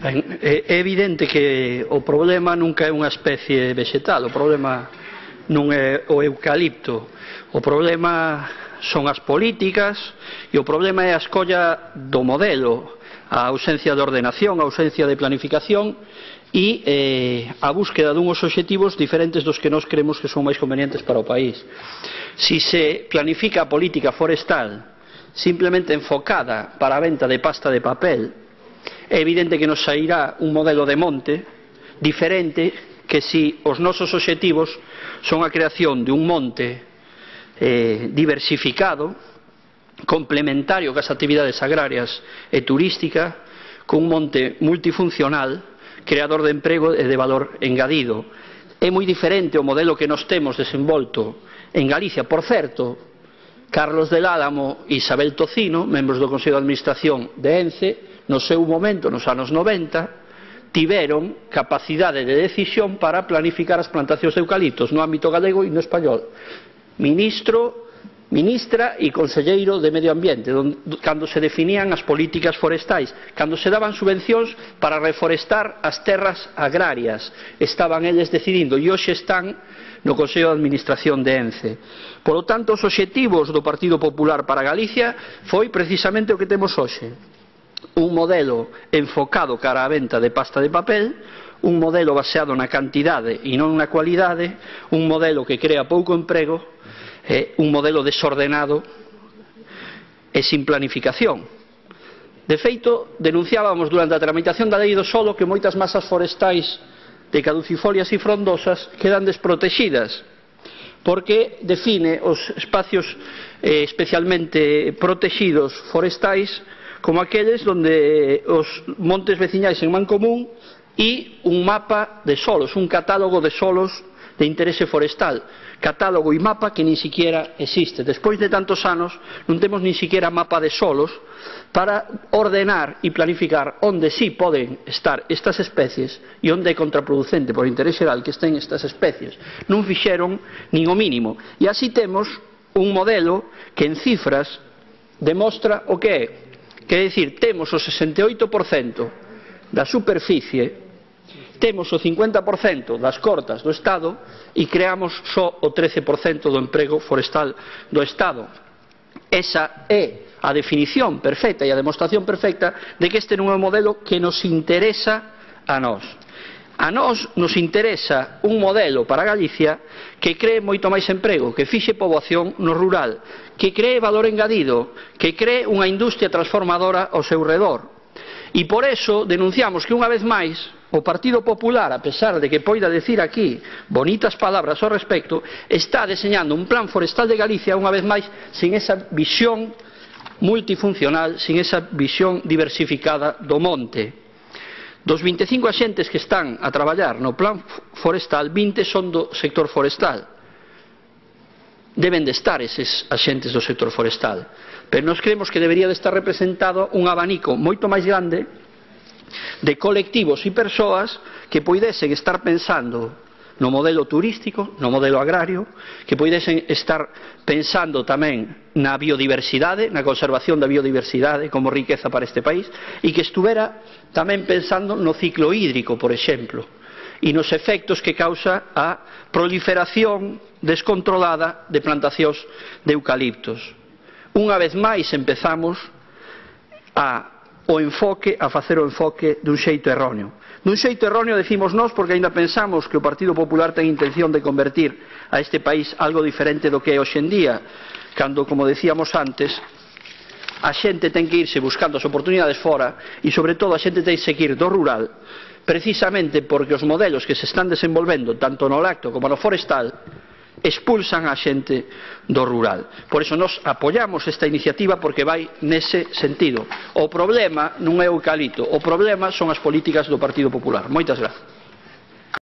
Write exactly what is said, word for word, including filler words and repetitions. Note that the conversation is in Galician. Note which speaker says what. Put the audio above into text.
Speaker 1: Ben, é evidente que o problema nunca é unha especie vegetal, o problema non é o eucalipto, o problema son as políticas e o problema é a escolla do modelo, a ausencia de ordenación, a ausencia de planificación e eh, a búsqueda dunhos obxectivos diferentes dos que nós creemos que son máis convenientes para o país. Si se planifica a política forestal simplemente enfocada para a venta de pasta de papel, é evidente que nos sairá un modelo de monte diferente que si os nosos obxectivos son a creación de un monte eh, diversificado, complementario cas actividades agrarias e turística, cun monte multifuncional, creador de emprego e de valor engadido. É moi diferente o modelo que nos temos desenvolto en Galicia. Por certo, Carlos del Álamo e Isabel Tocino, membros do Consello de Administración de ENCE, no seu momento, nos anos noventa, tiveron capacidade de decisión para planificar as plantacións de eucaliptos no ámbito galego e no español. Ministro, ministra e conselleiro de Medio Ambiente, cando se definían as políticas forestais, cando se daban subvencións para reforestar as terras agrarias, estaban eles decidindo e hoxe están no Consello de Administración de ENCE. Por lo tanto, os obxectivos do Partido Popular para Galicia foi precisamente o que temos hoxe. Un modelo enfocado cara á venta de pasta de papel, un modelo baseado na cantidade e non na cualidade, un modelo que crea pouco emprego, eh, un modelo desordenado e sin planificación. De feito, denunciábamos durante a tramitación da lei do solo que moitas masas forestais de caducifolias e frondosas quedan desprotegidas, porque define os espacios eh, especialmente protegidos forestais como aqueles onde os montes veciñais en mancomún e un mapa de solos, un catálogo de solos de interese forestal, catálogo e mapa que nin siquiera existe. Despois de tantos anos non temos nin siquiera mapa de solos para ordenar e planificar onde sí poden estar estas especies e onde é contraproducente por interese xeral que estén estas especies. Non fixeron nin o mínimo. E así temos un modelo que en cifras demostra o que é. Quer dicir, temos o sesenta e oito por cento da superficie, temos o cincuenta por cento das cortas do Estado e creamos só o trece por cento do emprego forestal do Estado. Esa é a definición perfecta e a demostración perfecta de que este non é un modelo que nos interesa a nós. A nós nos interesa un modelo para Galicia que cree moito máis emprego, que fixe poboación no rural, que cree valor engadido, que cree unha industria transformadora ao seu redor. E por eso denunciamos que unha vez máis o Partido Popular, a pesar de que poida decir aquí bonitas palabras ao respecto, está deseñando un plan forestal de Galicia unha vez máis sin esa visión multifuncional, sin esa visión diversificada do monte. Dos vinte e cinco axentes que están a traballar no plan forestal, vinte son do sector forestal. Deben de estar eses axentes do sector forestal, pero nós creemos que debería de estar representado un abanico moito máis grande de colectivos e persoas que poidesen estar pensando no modelo turístico, no modelo agrario, que poidesen estar pensando tamén na biodiversidade, na conservación da biodiversidade como riqueza para este país, e que estuvera tamén pensando no ciclo hídrico, por exemplo, e nos efectos que causa a proliferación descontrolada de plantacións de eucaliptos. Unha vez máis empezamos a o enfoque, a facer o enfoque dun xeito erróneo. Dun xeito erróneo decimos nós porque aínda pensamos que o Partido Popular ten intención de convertir a este país algo diferente do que é hoxe en día, cando, como decíamos antes, a xente ten que irse buscando as oportunidades fora e, sobre todo, a xente ten que ir do rural, precisamente porque os modelos que se están desenvolvendo, tanto no lacto como no forestal, expulsan a xente do rural. Por iso nós apoiamos esta iniciativa porque vai nese sentido. O problema non é o eucalipto, o problema son as políticas do Partido Popular. Moitas grazas.